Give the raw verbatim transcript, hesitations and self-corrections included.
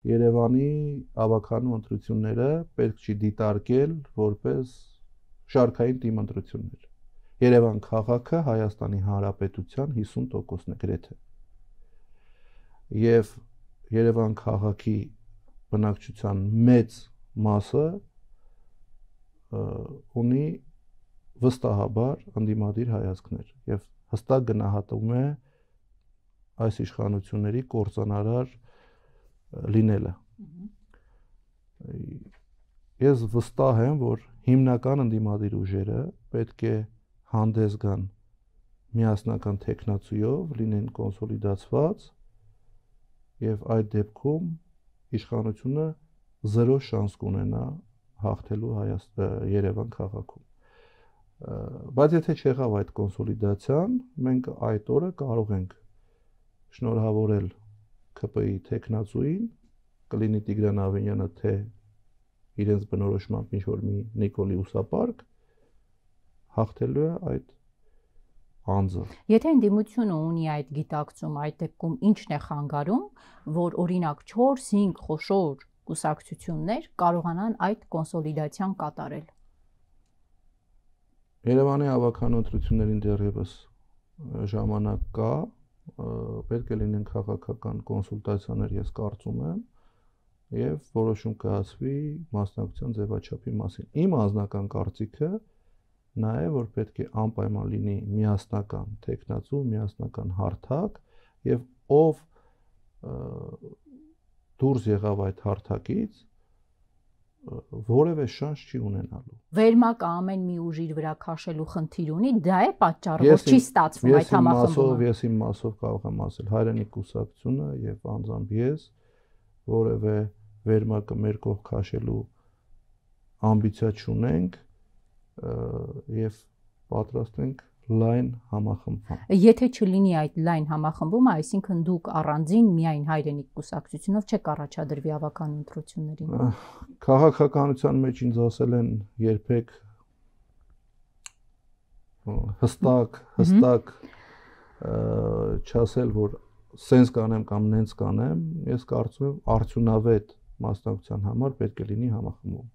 Երևանի ավականու ընտրությունները պետք չի դիտարկել որպես շարքային թիմ ընտրություններ։ Երևան քաղաքը Հայաստանի Հանրապետության հիսուն տոկոսն է գրեթե։ Եվ Երևան քաղաքի բնակչության մեծ մասը ունի վստահաբար ընդդիմադիր հայացքներ եւ հստակ գնահատում է այս իշխանությունների կործանարար լինելը։ Ես վստահ եմ, որ հիմնական ընդդիմադիր ուժերը պետք է հանդես գան միասնական տեխնացիով, լինեն կոնսոլիդացված եւ այդ դեպքում իշխանությունը զերո շանս կունենա հաղթելու Երևան քաղաքում։ Բայց եթե չեղավ այդ կոնսոլիդացիան, մենք այդ օրը կարող ենք շնորհավորել ՔՊ-ի տեխնացուին, կլինի Տիգրան Ավենյանը, թե իրենց բնորոշմամբ ինչ-որ մի Նիկոլի ուսապարկ, հաղթելու է այդ անձը։ Եթե ընդդիմությունը ունի այդ գիտակցում, այդ դեպքում ի՞նչն է խանգարում, որ օրինակ չորս-հինգ խոշոր կուսակցություններ կարողանան այդ կոնսոլիդացիան կատարել։ Երևանի ավականու ընտրություններին դեռևս ժամանակ կա, պետք է լինեն քաղաքական կոնսուլտացիաներ, ես կարծում եմ, եւ որոշում կայացվի մասնակցության ձևաչափի մասին։ Իմ անձնական կարծիքը նա է, որ պետք է անպայման լինի միասնական տեխնացու, միասնական հարթակ եւ ով դուրս եղավ այդ հարթակից, որևէ շանս չի ունենալու։ Վերմակը ամեն մի ուժ իր վրա քաշելու խնդիր ունի, դա է պատճառը, որ չի ստացվում այդ համախմբումը։ Ես իմ մասով կարող եմ ասել, Հայրենիք կուսակցությունը եւ անձամբ ես որևէ վերմակը մեր կողք քաշելու ամբիցիա չունենք եւ պատրաստ ենք լայն համախմբման։ Եթե չլինի այդ լայն համախմբումը, այսինքն դուք առանձին միայն Հայրենիք կուսակցությունով չեք առաջադրվի ավականու ընտրություններին։ Քաղաքականության մեջ ինձ ասել են երբեք հստակ, հստակ չասել, որ սենց կանեմ կամ նենց կանեմ, ես կարծում եմ արդյունավետ մասնակցության համար պետք է լինի համախմբում։